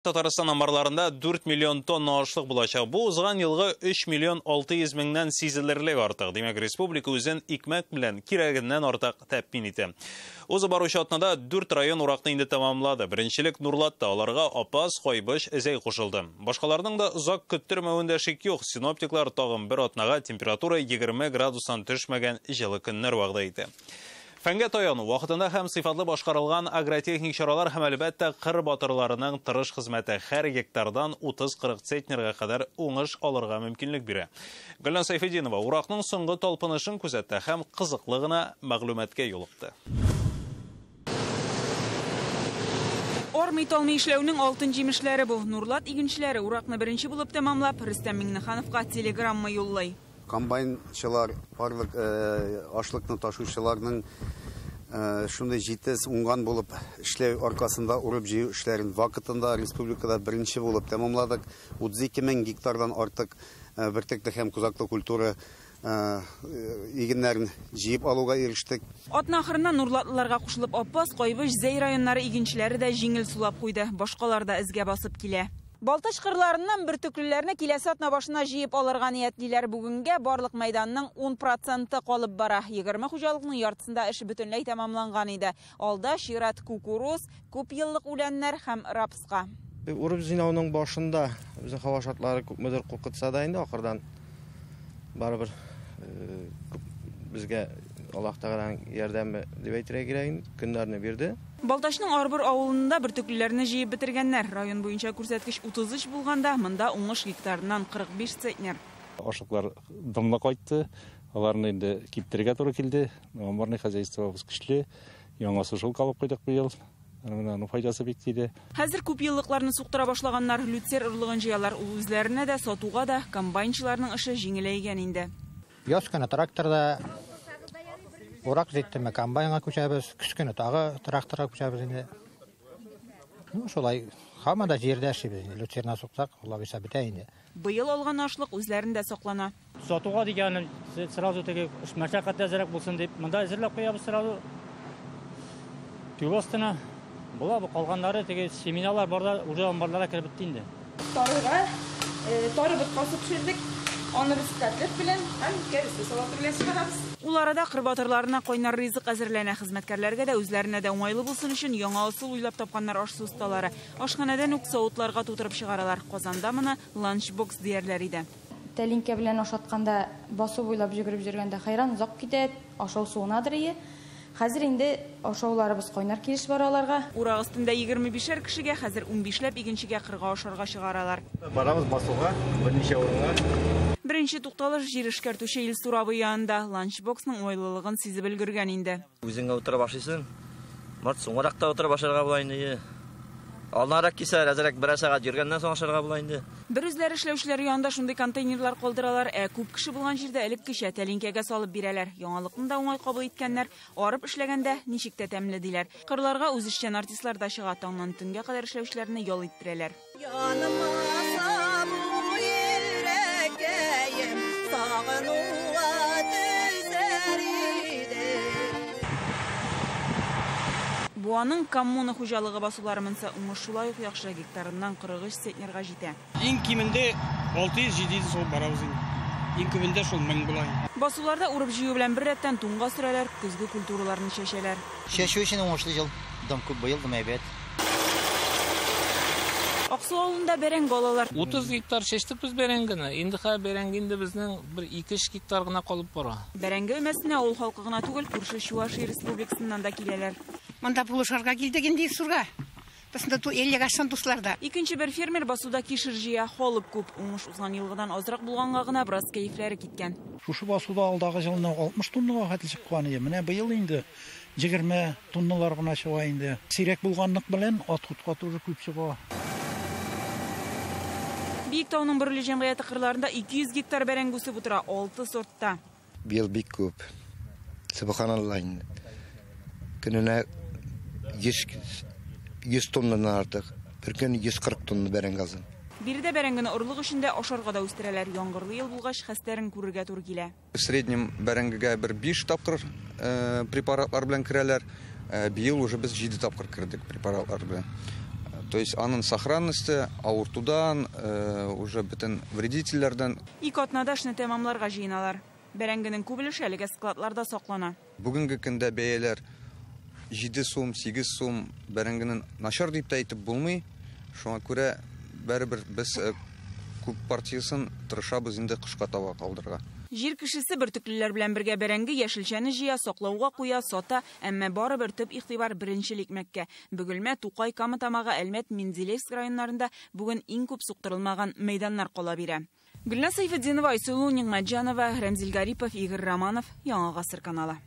Татарстан амбарларында 4 миллион тонна ашлык булачак. Бу узган елгы 3 миллион 600 меңнән сизелерлек артык. Димәк, республика үзен икмәк белән кирәгеннән артык тәэмин итә. Узып баручы атнада 4 район уракны инде тәмамлады. Беренчелек Нурлатта, аларга Апас, Кайбыч, Зәй кушылды. Башкаларның да озак көттермәвендә шик юк. Синоптиклар тагын бер атнага температура 20 градустан төшмәгән җылы көннәр вәгъдә итә. Фәнгә таяну, вакытында һәм сыйфатлы башкарылган агротехник чаралар һәм әлбәттә кыр батырларының тырыш хезмәте һәр гектардан 30-40 центнерга кадәр уңыш алырга мөмкинлек бирә. Гөлназ Сайфетдинова уракның соңгы талпынышын күзәтте һәм кызыклы гына мәгълүматка юлыкты. Армый талмый эшләүнең алтын җимешләре бу. Нурлат игенчеләре уракны беренче булып тәмамлап, Рөстәм Миңнехановка телеграмма юллый. Комбайнчылар, барлык ашлыкны ташучыларның шундый җитез, уңган булып эшләү аркасында урып җыю эшләрен вакытында республикада беренче булып тәмамладык. 32 мең гектардан артык бөртекле һәм кузаклы культура игеннәрен җыеп алуга ирештек. Атна ахырында нурлатлыларга кушылып Апас, Кайбыч, Зәй районнары игенчеләре дә җиңел сулап куйды. Башкалар да эзгә басып килә. Балтач кырларыннан бөртеклеләрне киләсе атна башына җыеп алырга ниятлиләр. Бүгенгә барлык мәйданның 10% калып бара. 20 хуҗалыкның яртысында эш бөтенләй тәмамланган иде. Алда чират кукуруз, күп еллык үләннәр һәм рапска. Урып җыйнауның башында безнең һава шартлары күпмедер куркытса да инде ахырдан барыбер безгә Аллаһ Тәгаләнең ярдәме дип әйтергә кирәк инде, көннәрне бирде. Балтачның Арбор авылында бөртеклеләрне җыеп бетергәннәр. Район буенча күрсәткеч 33 булганда, монда уңыш гектарыннан 45 центнер. Ашлыклар дымлы кайтты, аларны инде киптерергә туры килде. Амбарный хозяйствобыз көчле, яңа сушилка алып куйдык быел. Менә аның файдасы бик тиде. Хәзер күп еллыкларны суктыра башлаганнар, люцер орлыгын җыялар. Ул үзләренә дә, сатуга да, комбайнчыларның эше җиңеләйгән инде. Яз көне тракторда урак җиттеме, комбайнга күчәбез, көз көне тагы тракторга күчәбез инде. Шулай, һаман да җирдә эшлибез инде. Люцерна суксак, Алла бирсә бетә инде. Быел алган ашлык үзләрендә саклана. Сатуга дигәнен сразу теге мәшәкать әзрәк булсын дип, монда әзерләп куябыз сразу. Түбә астына. Була бу калганнары теге семиналар барда уже амбарларга кереп бетте инде. Тарыга, тары боткасы пешердек. Аны без котлет белән һәм кәбестә салаты белән чыгарабыз. Ул арада кыр батырларына кайнар ризык әзерләнә. Хезмәткәрләргә дә, үзләренә дә уңайлы булсын өчен яңа ысул уйлап тапканнар аш-су осталары. Ашханәдән үк савытларга тутырып чыгаралар. Казанда моны ланчбокс диярләр иде. Тәлинкә белән ашатканда, басу буйлап йөгереп йөргәндә хайран озак китә, ашау суынадыр ие. Хәзер инде ашауларыбыз кайнар килеш бара аларга. Урак өстендә 25-әр кешегә, хәзер 15ләп игенчегә кырга ашарга чыгаралар. Барабыз басуга, берничә урынга. Беренче тукталыш җир эшкәртүче Илсур абый янында. Ланчбоксның уңайлылыгын сизеп өлгергән инде. Үзеңә утырып ашыйсың. Март соңрак та утырып ашарга була инде. Алнарак кисәр, әзрәк берәр сәгать йөргәннән соң ашарга була инде. Бер үзләре эшләүчеләр янында шундый контейнерлар калдыралар, ә күп кеше булган җирдә элеккечә тәлинкәгә салып бирәләр. Яңалыкны да уңай кабул иткәннәр, арып эшләгәндә ничек тә тәмле диләр. Кырларга үзешчән артистлар да чыга, таңнан төнгә кадәр эшләүчеләрне ял иттерәләр. Буаның коммуна хуҗалыгы басулары монса уңыш шулай ук яхшы, гектарыннан 43 центнерга җитә. Иң кимендә 600-700 сум барабыз инде. Иң күбендә шул 1000 була инде. Басуларда урып җыю белән бер рәттән туңга сөрәләр, көзге культураларны чәчәләр. Чәчү өчен уңышлы ел, дым күп быел, дым әйбәт. Аксу авылында бәрәңге алалар. 30 гектар чәчтек без бәрәңгене. Инде хәзер бәрәңге инде безнең бер 2-3 гектар гына калып бара. Бәрәңге өмәсенә авыл халкы гына түгел, күрше Чувашия республикасыннан да киләләр. Монда булышырга килдек инде Илсурга. Без монда 50 ашсан дуслар да. Икенче бер фермер басуда кишер җыя, халык күп. Уңыш узган елгыдан азрак булганга гына бераз кәефләре киткән. Шушы басуда алдагы елны 60 тоннага хәтле чыккан иде. Менә быел инде 20 тонналар гына чыга инде. Сирәк булганлык белән отходка тоже күп чыга. Биектауның Бөрле җәмгыяте кырларында 200 гектар бәрәңге үсеп утыра, 6 сортта. Быел бик күп. Субханаллаһ инде. Көненә 100 тоннадан артык. Бер көн 140 тонна бәрәңге алдым. Биредә бәрәңгене орлык өчен дә, ашарга да үстерәләр. Яңгырлы ел булгач, хәстәрен күрергә туры килә. В среднем бәрәңгегә бер 5 тапкыр препаратлар белән керәләр. Быел уже без 7 тапкыр кердек препаратлар белән. То есть аның сохранности авыртудан, уже бөтен вредительләрдән. 2 атнада эшне тәмамларга җыеналар. Бәрәңгенең күп өлеше әлегә складларда саклана. Бүгенге көндә бәяләр 7 сум, 8 сум, бәрәңгенең начар дип тә әйтеп булмый. Шуңа күрә бәребер без күп партиясын тырышабыз инде кышка таба калдырырга. Җир кешесе бөртеклеләр белән бергә бәрәңге, яшелчәне җыя, саклауга куя, сата, әмма барыбер төп игътибар беренчел икмәккә. Бөгелмә, Тукай, Кама Тамагы, Әлмәт, Менделеевск районнарында бүген иң күп суктырылмаган мәйданнар кала бирә. Гөлназ Сәйфетдинова, Айсылу Нигъмәтҗанова, Рәмзил Гарипов, Игорь Романов, Яңа Гасыр каналы.